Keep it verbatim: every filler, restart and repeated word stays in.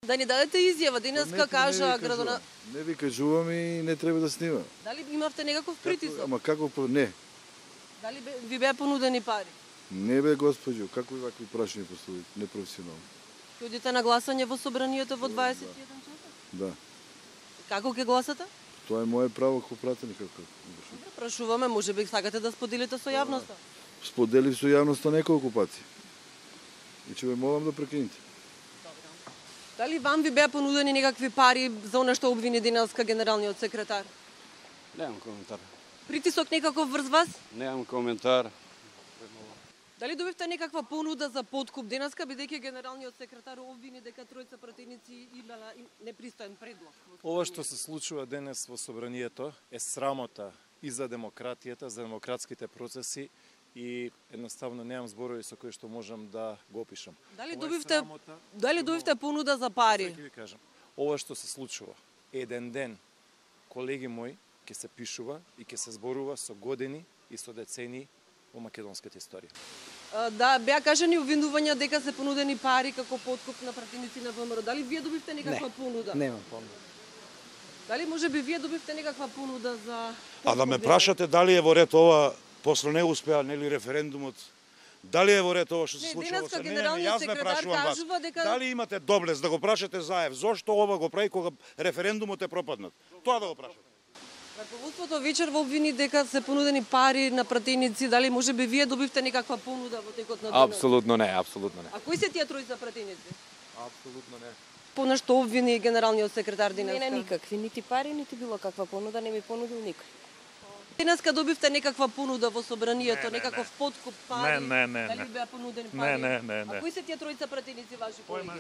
Да ни дадете изјава, денеска кажа не градона... Не ви кажувам и не треба да снима. Дали имавте некаков притисок? Ама како по... Не. Дали ви беа понудени пари? Не бе, госпоđo, како и вакви прашања поставите, непрофесионално. Ќе одите на гласање во собранието во дваесет и еден часот? Да. Како ќе гласате? Тоа е мое право како пратеник. Како... Прашуваме, може би сакате да споделите со јавноста? Споделив со јавноста неколку пати. И ќе ве молам да прекинете. Дали вам ви беа понудени некакви пари за она што обвини денеска генералниот секретар? Немам коментар. Притисок некаков врз вас? Немам коментар. Дали добивте некаква понуда за подкуп денеска, бидејќи генералниот секретар обвини дека тројца пратеници имала непристоен предлог? Ова што се случува денес во собранието е срамота и за демократијата, за демократските процеси и едноставно немам зборови со кои што можам да го опишам. Дали добивте дали добивте понуда за пари? Ќе ви кажам. Ова што се случува еден ден, колеги мои, ќе се пишува и ќе се зборува со години и со децени во македонската историја. Да, беа кажани обвинувања дека се понудени пари како подкуп на пратеници на ВМРО. Дали вие добивте некаква не, понуда? Немам понуда. Дали може би вие добивте некаква понуда за А да ме прашате дали е во ред ова, после не успеа нели референдумот, дали е во ред ова што се случува? Денеска Не, не, не, генералниот јас ме секретар прашувам вас. кажува дека Дали имате доблест да го прашате Заев, зошто ова го прави кога референдумот е пропаднат? Тоа да го прашате. Раководството вечер во обвини дека се понудени пари на пратеници, дали може би вие добивте некаква понуда во текот на денот? Апсолутно не, апсолутно не. А кои се тие тројца пратеници? Апсолутно не. По што обвини генералниот секретар денеска? Не, не, никакви, нити пари, нити било каква понуда, не ми понудил никој. Денеска добивте некаква понуда во собранието, не, не, некаков не. подкуп пари? Не, не, не, Дали не. беа понудени Не, пари? не, не, не. А кои се тие тројца пратеници ваши колеги?